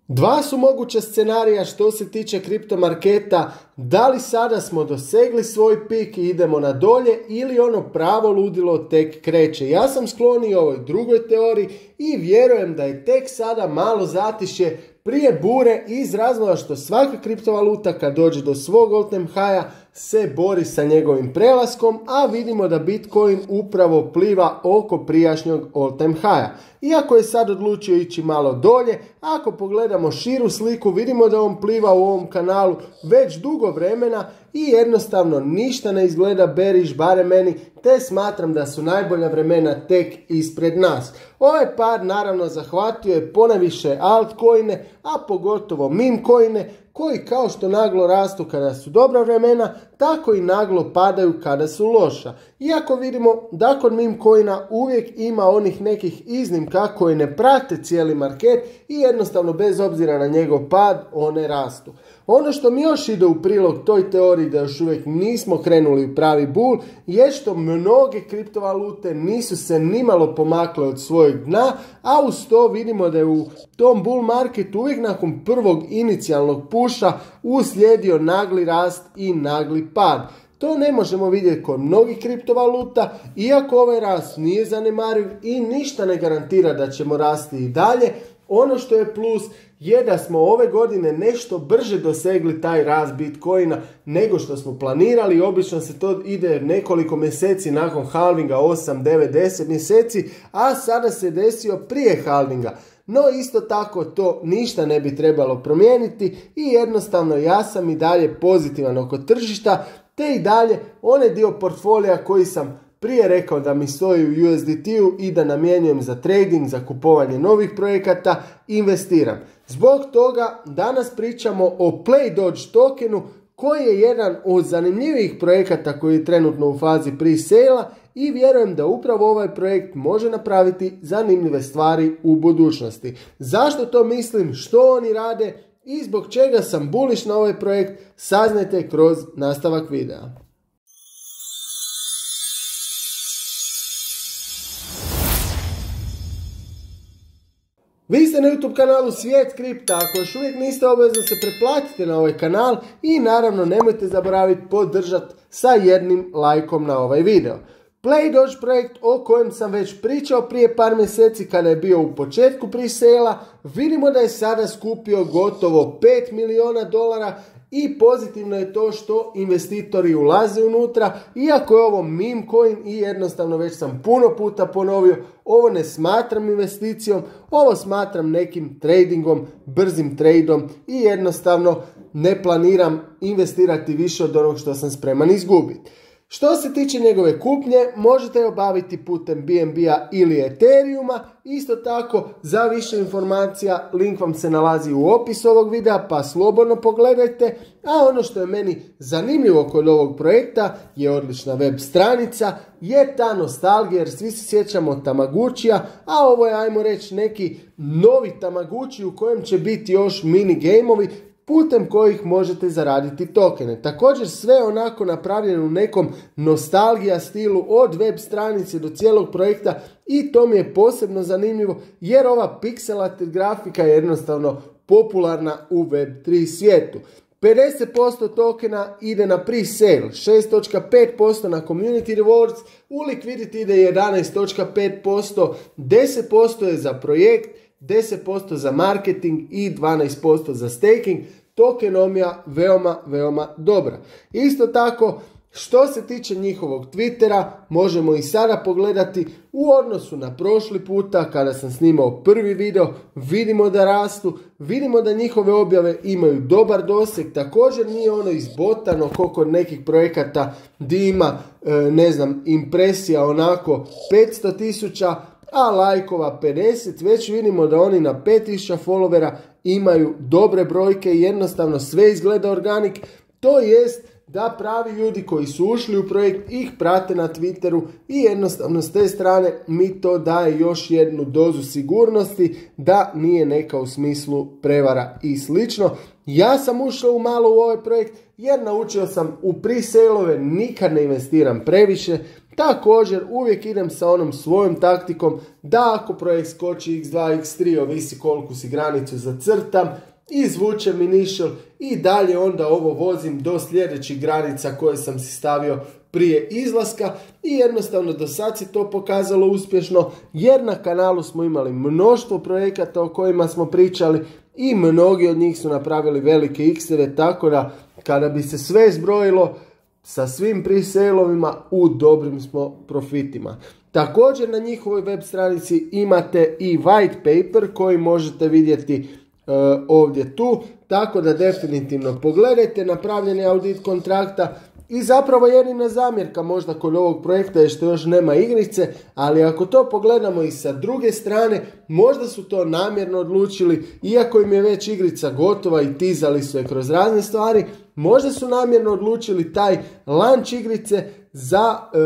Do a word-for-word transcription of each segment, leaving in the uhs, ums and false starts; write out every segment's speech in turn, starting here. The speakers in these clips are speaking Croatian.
Dva su moguća scenarija što se tiče kriptomarketa, da li sada smo dosegli svoj pik i idemo na dolje ili ono pravo ludilo tek kreće. Ja sam skloniji ovoj drugoj teoriji i vjerujem da je tek sada malo zatišje prije bure iz razloga što svaka kriptovaluta kad dođe do svog all time higha se bori sa njegovim prelaskom, a vidimo da Bitcoin upravo pliva oko prijašnjeg all time higha. Iako je sad odlučio ići malo dolje, ako pogledamo širu sliku vidimo da on pliva u ovom kanalu već dugo vremena i jednostavno ništa ne izgleda bearish, barem meni, te smatram da su najbolja vremena tek ispred nas. Ovaj par naravno zahvatio je ponajviše altcoine, a pogotovo meme coine, koji kao što naglo rastu kada su dobra vremena, tako i naglo padaju kada su loša. Iako vidimo da kod meme coina uvijek ima onih nekih iznimka koji ne prate cijeli market i jednostavno bez obzira na njegov pad one rastu. Ono što mi još ide u prilog toj teoriji da još uvijek nismo krenuli u pravi bull je što mnoge kriptovalute nisu se nimalo pomakle od svojeg dna, a uz to vidimo da je u tom bull marketu uvijek nakon prvog inicijalnog puša uslijedio nagli rast i nagli pad. To ne možemo vidjeti kod mnogih kriptovaluta, iako ovaj rast nije zanemariv i ništa ne garantira da ćemo rasti i dalje. Ono što je plus je da smo ove godine nešto brže dosegli taj rast Bitcoina nego što smo planirali. Obično se to ide nekoliko mjeseci nakon halvinga, osam, devet, deset mjeseci, a sada se desio prije halvinga. No isto tako to ništa ne bi trebalo promijeniti i jednostavno ja sam i dalje pozitivan oko tržišta, te i dalje onaj dio portfolija koji sam prije rekao da mi stoji u U S D T-u i da namjenjujem za trading, za kupovanje novih projekata, investiram. Zbog toga danas pričamo o PlayDoge tokenu koji je jedan od zanimljivijih projekata koji je trenutno u fazi pre-sale-a i vjerujem da upravo ovaj projekt može napraviti zanimljive stvari u budućnosti. Zašto to mislim, što oni rade i zbog čega sam bullish na ovaj projekt, saznajte kroz nastavak videa. Vi ste na YouTube kanalu Svijet kripta, ako još uvijek niste obavezno se pretplatite na ovaj kanal i naravno nemojte zaboraviti podržati sa jednim lajkom na ovaj video. PlayDoge projekt o kojem sam već pričao prije par mjeseci kada je bio u početku pre-sale-a, vidimo da je sada skupio gotovo pet milijuna dolara i pozitivno je to što investitori ulaze unutra, iako je ovo meme coin i jednostavno već sam puno puta ponovio, ovo ne smatram investicijom, ovo smatram nekim tradingom, brzim tradom i jednostavno ne planiram investirati više od onog što sam spreman izgubiti. Što se tiče njegove kupnje, možete je obaviti putem B N B-a ili Ethereuma. Isto tako, za više informacija, link vam se nalazi u opisu ovog videa, pa slobodno pogledajte. A ono što je meni zanimljivo kod ovog projekta je odlična web stranica, je ta nostalgija, jer svi se sjećamo Tamaguchija, a ovo je, ajmo reći, neki novi Tamaguchi u kojem će biti još mini gameovi, putem kojih možete zaraditi tokene. Također sve onako napravljeno u nekom nostalgija stilu od web stranice do cijelog projekta i to mi je posebno zanimljivo jer ova pixelated grafika je jednostavno popularna u web tri svijetu. pedeset posto tokena ide na pre-sale, šest zarez pet posto na community rewards, u liquidity ide jedanaest zarez pet posto, deset posto je za projekt, deset posto za marketing i dvanaest posto za staking. Tokenomija veoma, veoma dobra. Isto tako, što se tiče njihovog Twittera, možemo i sada pogledati u odnosu na prošli puta kada sam snimao prvi video, vidimo da rastu, vidimo da njihove objave imaju dobar doseg, također nije ono izbotano koliko nekih projekata gdje ima, ne znam, impresija onako petsto tisuća, a lajkova pedeset, već vidimo da oni na pet tisuća followera imaju dobre brojke i jednostavno sve izgleda organik, to jest da pravi ljudi koji su ušli u projekt ih prate na Twitteru i jednostavno s te strane mi to daje još jednu dozu sigurnosti da nije neka u smislu prevara i slično. Ja sam ušao u malo u ovaj projekt jer naučio sam u pre-sale-ove nikad ne investiram previše. Također uvijek idem sa onom svojom taktikom da ako projekt skoči iks dva, iks tri, ovisi koliko si granicu zacrtam, izvučem initial i dalje onda ovo vozim do sljedećih granica koje sam si stavio prije izlaska i jednostavno do sad se to pokazalo uspješno jer na kanalu smo imali mnoštvo projekata o kojima smo pričali i mnogi od njih su napravili velike ikseve, tako da kada bi se sve zbrojilo sa svim pre-sale-ovima u dobrim smo profitima. Također na njihovoj web stranici imate i white paper koji možete vidjeti uh, ovdje tu, tako da definitivno pogledajte napravljeni audit kontrakta. I zapravo jedina zamjerka možda kod ovog projekta je što još nema igrice, ali ako to pogledamo i sa druge strane, možda su to namjerno odlučili, iako im je već igrica gotova i tizali su je kroz razne stvari, možda su namjerno odlučili taj launch igrice za e,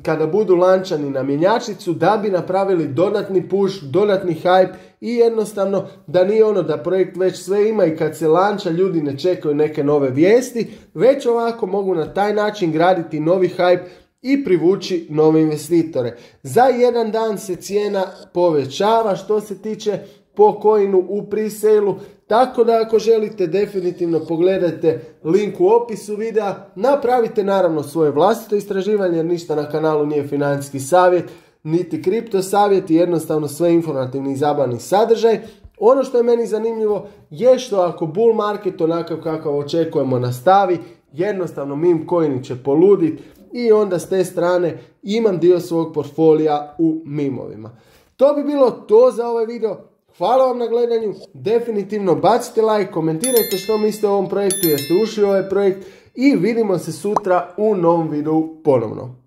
kada budu lančani na mjenjačnicu da bi napravili dodatni push, dodatni hype i jednostavno da nije ono da projekt već sve ima i kad se lanča ljudi ne čekaju neke nove vijesti, već ovako mogu na taj način graditi novi hype i privući nove investitore. Za jedan dan se cijena povećava što se tiče po coinu u pre-sale-u, tako da ako želite definitivno pogledajte link u opisu videa, napravite naravno svoje vlastito istraživanje jer ništa na kanalu nije financijski savjet, niti kripto savjet i jednostavno sve informativni i zabavni sadržaj. Ono što je meni zanimljivo je što ako bull market onakav kakav očekujemo nastavi, jednostavno meme coini će poluditi i onda s te strane imam dio svog portfolija u mimovima. To bi bilo to za ovaj video. Hvala vam na gledanju, definitivno bacite like, komentirajte što mislite o ovom projektu, jeste ušli u ovaj projekt i vidimo se sutra u novom videu ponovno.